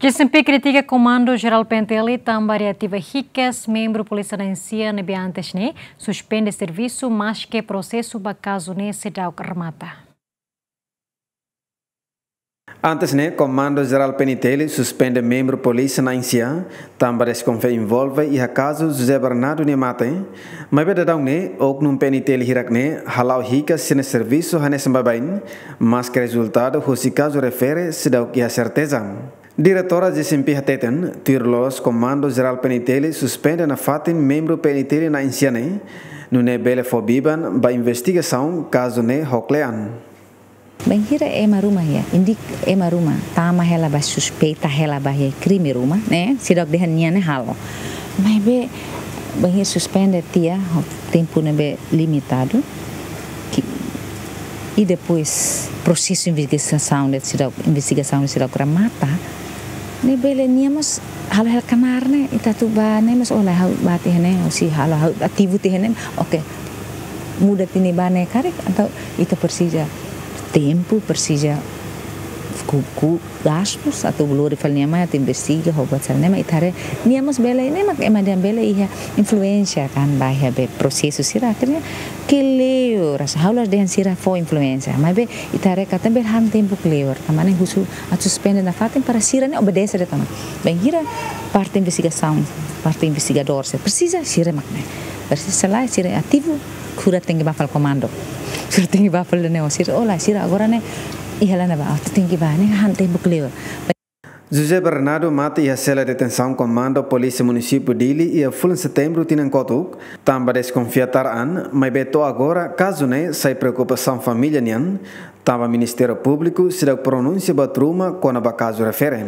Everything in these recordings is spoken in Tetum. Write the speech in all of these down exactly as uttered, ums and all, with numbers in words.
G C M P kritika Komandu Jerál P N T L tanba reativa hikas membru polísia na'in-sia ne'ebé antes ne'e suspende servisu, maske prosesu ba kazu ne'e seidauk remata. Antes ne'e, Komandu Jerál P N T L suspende membru polísia na'in-sia tanba deskonfia envolve iha kazu José Bernardo nia mate. Maibé daudaun ne'e, oknum P N T L hirak ne'e hala'o hikas sira-nia servisu hanesan baibain, maske rezultadu husi kazu refere seidauk iha serteza. Diretora G C M P hateten, tuir loloos Komandu Jerál P N T L suspende nafatin membru P N T L na'in-sia ne'e, nune'e bele fó biban ba investigasaun kazu ne'e ho kle'an. Bainhira ema ruma iha, indik ema ruma, tama hela ba, suspeita hela ba iha krime ruma, ne'e, seidauk dehan nia ne'e halo. Maibé, bainhira suspende tiha, ho tempu ne'ebé limitadu, ki-, i depois prosesu investigasaun ne'e seidauk, investigasaun ne'e seidauk remata, ne'e bele nia mós halo hela knaar ne'e, ita atu ba ne'e mós, oh lae, ha'u ba tiha ne'e, ou se halo ha'u ativu tiha ne'e, oke. Muda tiha ne'e ba ne'e karik, entaun ita presiza tempu, presiza ku, ku gastus atu lori fali nia mai atu investiga ho buat sira-ne'e, mak ita haree nia mós bele, ne'e mak ema dehan bele iha influénsia kan ba iha be prosesu sira, akhirnya kleur, asa ha'u la dehan sira fó influénsia, maibé ita haree katak bele han tempu kleur, tanba ne'e husu atu suspende nafatin para sira-ne'e obedese de'it ona. Bainhira parte investigasaun, parte investigadór sira presiza, sira mak ne'e. Presiza selae, sira ativu, sira tenke ba fali komandu. Sira tenke ba fali ne'e, sira, oh lae, sira agora ne'e, iha la ne'ebá, oh, tenke ba, ne'e han tempu kleur. José Bernardo mate iha sela detensaun Komandu Polísia Munisípiu Dili iha fulan Setembru tinan kotuk, tanba deskonfia tar an, maibé to'o agora kazu ne'e sai preokupasaun família nian, tanba Ministériu Públiku seidauk pronunsia buat ruma kona-ba kazu refere.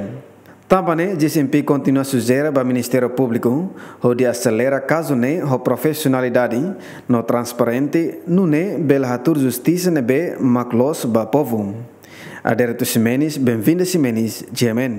Tanba ne'e, G C M P kontinua sujere ba Ministériu Públiku hodi aselera kazu ne'e ho profisionalidade no transparente, nune'e bele hatuur justisa ne'ebé mak loos ba povu. Adérito Ximenes, Benvinda Ximenes, G M N.